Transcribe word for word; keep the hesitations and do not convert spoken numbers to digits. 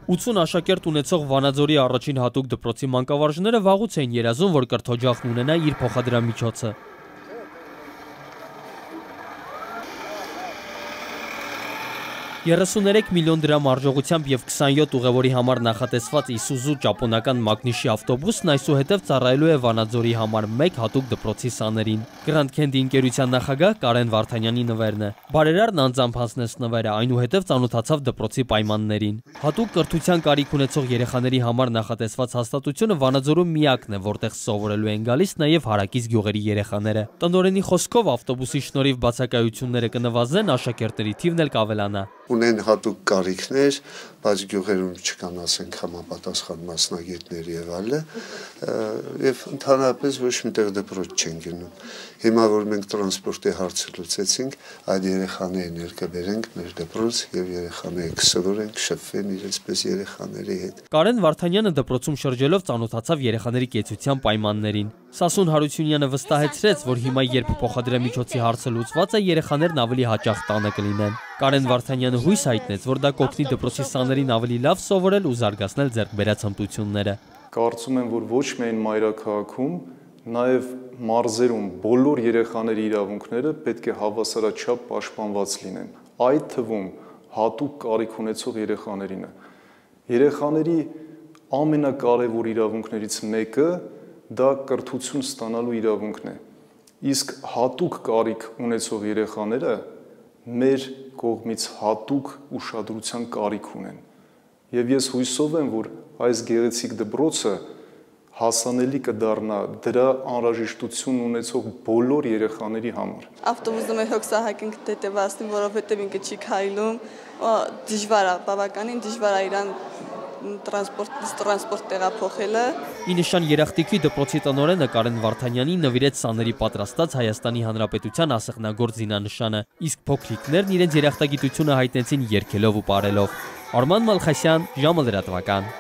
ութսուն աշակերտ ունեցող Վանաձորի առաջին հատուկ դպրոցի մանկավարժները վաղուց էին երազում, որ կրթօջախն ունենա իր փոխադրամիջոցը։ երեսուներեք միլիոն դրամ արժողությամբ եւ քսանյոթ ուղևորի համար նախատեսված Իսուզու ճապոնական մագնիշի ավտոբուսն այսուհետև ծառայելու է Վանաձորի համար մեկ հատուկ դպրոցի սաներին։ Grand Candy ընկերության նախագահ Կարեն Վարդանյանի նվերն է։ Բարերարն անձամբ հանձնեց նվերը, այնուհետև ծանոթացավ դպրոցի պայմաններին։ Հատուկ կրթության կարիք ունեցող երեխաների համար նախատեսված հաստատությունը Վանաձորում միակն է, որտեղ սովորելու են գալիս նաեւ հարակից գյուղերի երեխաները։ Տնօրենի խոսքով ավտոբուսի շնորհիվ բացակայությունները կնվազեն, աշակերտների թիվն էլ կավելանա։ Ունեն հատուկ կարիքներ, բայց գյուղերում չկան, ասենք, համապատասխան մասնագետներ եւ այլը, եւ ընդհանրապես ոչ միտեղ դպրոց չեն գնում։ Հիմա որ մենք տրանսպորտի հարցը լուծեցինք, այդ երեխաներին ներկաբերենք մեր դպրոց եւ երեխաները կսովորեն, կշփվեն իրենց պես երեխաների հետ։ Կարեն Վարդանյանը դպրոցում շրջելով ծանոթացավ երեխաների կեցության պայմաններին։ Սասուն Հարությունյանը վստահեցրեց, որ հիմա երբ փոխադրամիջոցի հարցը լուծված է, երեխաներն ավելի հաճախ տանը կլինեն։ Կարեն Վարդանյանը հույս հայտնեց, որ դա կօգնի դպրոցի սաներին ավելի լավ սովորել ու զարգացնել ձեռքբերած հմտությունները։ Կարծում եմ, որ ոչ միայն մայրաքաղաքում, նաև մարզերում բոլոր երեխաների իրավունքները պետք է հավասարաչափ պաշտպանված լինեն, այդ թվում հատուկ կարիք ունեցող երեխաներինը։ Երեխաների ամենակարևոր իրավունքներից մեկը դա կրթություն ստանալու իրավունքն է, իսկ հատուկ կարիք ունեցող երեխաները մեր կողմից հատուկ ուշադրության կարիք ունեն։ Եվ ես հույսով եմ, որ այս գեղեցիկ դպրոցը հասանելի կդառնա դրա անհրաժեշտություն ունեցող բոլոր երեխաների համար։ Ավտոբուսը մեր հոգսահայտնք դետևացնի, որովհետև ինքը չի քայլում, դժվար է, բավականին դժվար է իրան տրանսպորտ տրանսպորտ տեղափոխելը։ Ի նշան երախտիկի դպրոցի տնօրենը Կարեն Վարդանյանին նվիրեց սաների պատրաստած Հայաստանի Հանրապետության ասեղնագործ զինանշանը, իսկ փոքրիկներն իրենց երախտագիտությունը հայտնեցին երգելով ու պարելով։ Արման Մալխասյան, ժամը լրատվական։